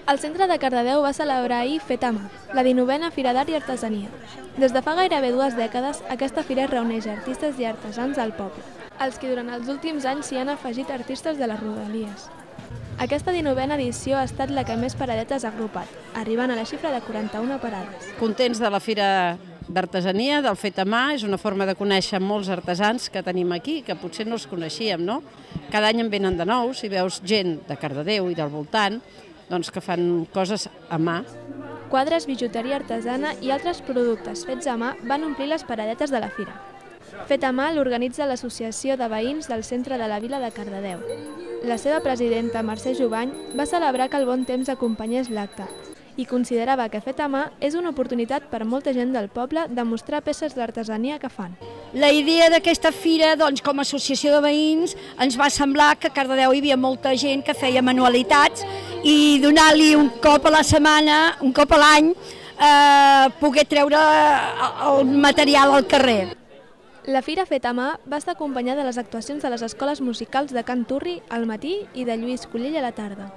El centre de Cardedeu va celebrar ahir Fet a Mà, la 19a Fira d'Art i Artesania. Des de fa gairebé 2 dècades, aquesta fira reuneix artistes i artesans del poble, els que durant els últims anys s'hi han afegit artistes de les rodalies. Aquesta 19a edició ha estat la que més paradetes ha agrupat, arribant a la xifra de 41 parades. Contents de la Fira d'Artesania, del Fet a Mà, és una forma de conèixer molts artesans que tenim aquí, que potser no els coneixíem, no? Cada any en venen de nous i veus gent de Cardedeu i del voltant que fan coses a mà. Quadres, bijuteria artesana i altres productes fets a mà van omplir les paradetes de la fira. Fet a Mà l'organitza l'Associació de Veïns del Centre de la Vila de Cardedeu. La seva presidenta, Mercè Jubany, va celebrar que el bon temps acompanyés l'acte i considerava que Fet a Mà és una oportunitat per molta gent del poble de mostrar peces d'artesania que fan. La idea d'aquesta fira, com a associació de veïns, ens va semblar que a Cardedeu hi havia molta gent que feia manualitats i donar-li un cop a la setmana, un cop a l'any, poder treure el material al carrer. La Fira Fet a Mà va estar acompanyada de les actuacions de les escoles musicals de Can Turri al matí i de Lluís Collell a la tarda.